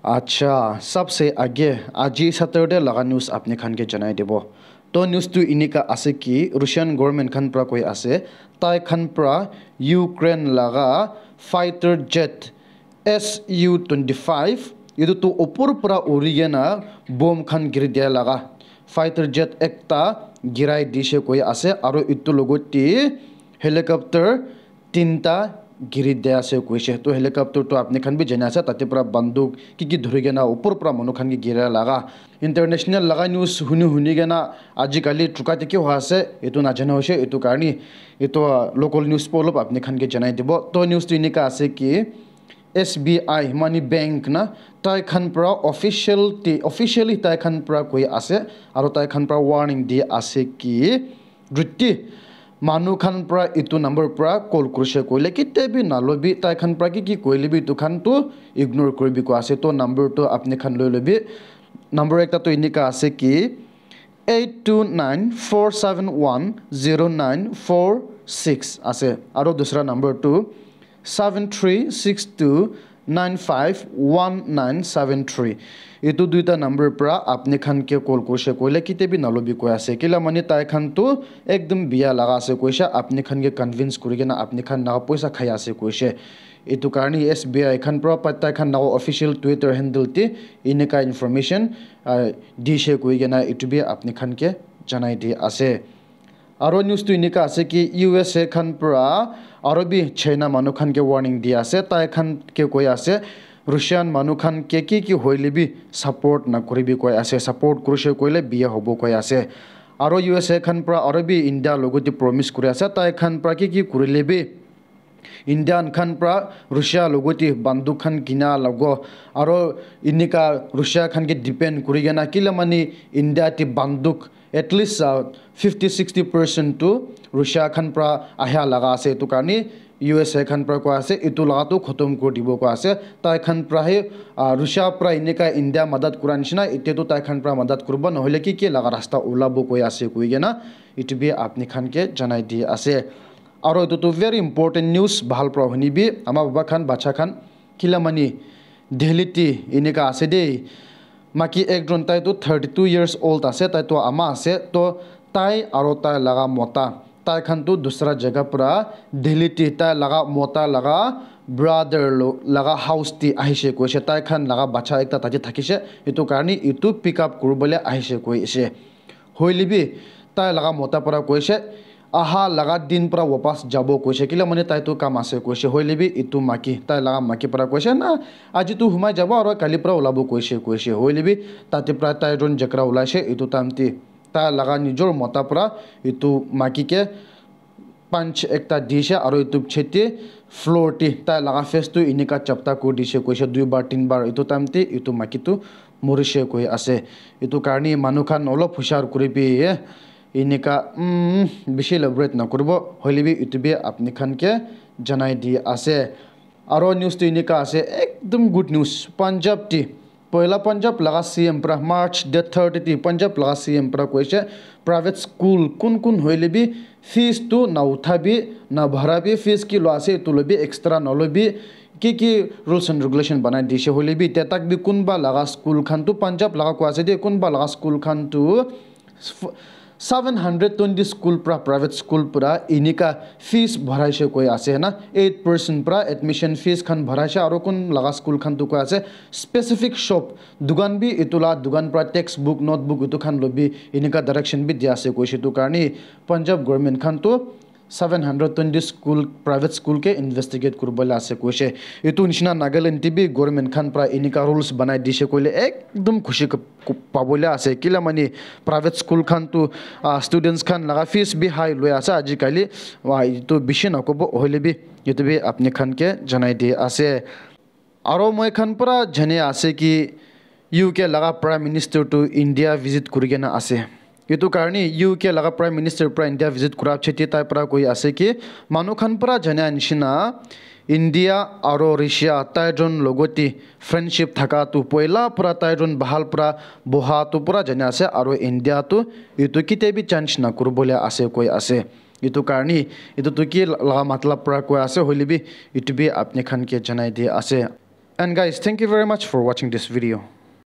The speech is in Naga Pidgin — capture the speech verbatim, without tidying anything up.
Acha, sabse aage aji Saturday laga news apni khan ke janai dibo. To news tu inika ase ki Russian government khan pra koi ase, tai khan pra Ukraine laga fighter jet S U twenty-five, itu tu upor pra uri kena bomb khan giri dia laga fighter jet ekta girai dishe koi ase, aro itu logote helicopter tinta giri de ase koishe. To helicopter to apni khan bi jani ase, tate pra banduk ki ki dhuri kena upor pra manu khan ke gira laga. International laga news huni huni kena ajikali chuka te ki hoi ase, etu najana hoishe, etu karni etu, ah, local news po olop apni khan ke janai dibo. To news tu inika ase ki S B I money bank na tai khan pra official ti, officially tai khan pra koi ase, aro tai khan pra warning di ase ki Ruti manu khan pra itu number pra call kurishe koile kite bi nalobi, tai khan pra ki ki koile bi itu khan tu ignore kuribi koi ase. To number tu apni khan loi lobi. Number ekta tu inika ase ki eight two nine four seven one zero nine four six ase, aro dusra number tu seven three six two nine five one nine seven three. Itu duita number pra apni khan ke call kurishe koile kite bi nalobi koi ase. Kila mani tai khan tu ekdum biya laga ase koishe, apni khan ke convince kuri kena apni khan laga poisa khai ase koishe. Itu karni S B I khan pra pa tai khan laga official Twitter handle te inika information, ah, dishe koi kena itu bi apni khan ke janai di ase. Aro news tu inika ase ki U S A khan pra aro bi China manu khan ke warning di ase, tai khan ke koi ase Russian manu khan ke ki ki hoile bi support na kuribi koi ase, support kurishe koile biya hobo koi ase. Aro U S A khan pra aro bi India logote promise kuri ase, tai khan pra ki ki kurile bi Indian khan pra Russia logote banduk khan kina lago, aro inika Russia khan ke depend kuri kena kila mani India te banduk at least, uh, fifty sixty percent tu Russia khan pra ahia laga ase. Etu karni U S A khan pra koi ase, etu laga tu khotom kuri dibo koi ase. Tai khan pra he, uh, Russia pra inika India madad kura nishina, ite tu tai khan pra madad kuribo, nohole ki ki laga rasta ulabo koi ase koi kena, etu bi apni khan ke janai di ase. Aro etu tu very important news, bhal pra huni bi, ama baba khan, bacha khan, kila mani Delhi te inika ase de. Maki ekjon tai tu thirty two years old ase, tai tu ama ase, to tai aro tai laga mota, tai khan tu dusra jaga pra Delhi te tai laga mota laga brother lo-, laga house te ahishe koishe, tai khan laga bacha ekta tate thakishe, etu karni etu pick up kuribole ahishe koishe. Hoile bi tai laga mota para koise, aha laga din para wapas jabo koise, kila mane tai tu kam ase koise. Hoile bi etu maki, tai laga maki para koise, na, aji tu humai jabo aro kali para ulabo koise, koise. Hoile bi tate para tai jon jekra ulaise, etu time te tai laga nijor mota para etu maki ke punch ekta dise aro etu piche te floor te tai laga face tu enika chapta kuri dise koise dui bar tin bar. Etu time te etu maiki tu morise koi ase. Etu karne manu khan olop hushar kuri bi, eh, enika, mm, bishi elaborate na kuribo, hoile bi etu bi apni khan ke janai di ase. Aro news tu enika ase, ekdum good news. Punjab te Poila Punjab laga C M para March date thirty te Punjab laga C M para koise, private school kun kun hoile bi fees tu na uthabi, na bharabi, fees ki lo ase etu lobi, extra na lobi, ki ki rules and regulation banai dise hoile bi, ete tak bi kunba laga school khan tu Punjab laga koi ase de, kunba laga school khan tu seven hundred twenty school pra, private school pra enika fees bharaise koi ase na, eight percent pra admission fees khan bharaise, aro kun laga school khan tu koi ase specific shop dukan bi etu la dukan pra textbook, notebook etu khan lobi enika direction bi dia ase koise. Etu karne Punjab government khan tu seven hundred twenty school, private school ke investigate kuribole ase koise. Etu nishina Nagaland te bi government khan pra enika rules banai dise koile ekdum khushi k-, k-, pabole ase. Kila mane private school khan tu, ah, students khan laga fees bi high loi ase ajikali. Wa, etu bishi nakobo, hoile bi etu bi apni khan ke janai di ase. Aro moi khan para jane ase ki U K laga Prime Minister tu India visit kuri kena ase. Etu karne U K laga Prime Minister para India visit kura piche te tai para koi ase ki manu khan para jana nishina India aro Russia tai jon logote friendship thaka tu poila para tai jon bahal para boha tu para jane ase, aro India tu etu kite bi change na kuribole ase koi ase. Etu karne etu tu ki laga matlab para koi ase, hoile bi etu bi apni khan ke janai di ase. And guys, thank you very much for watching this video.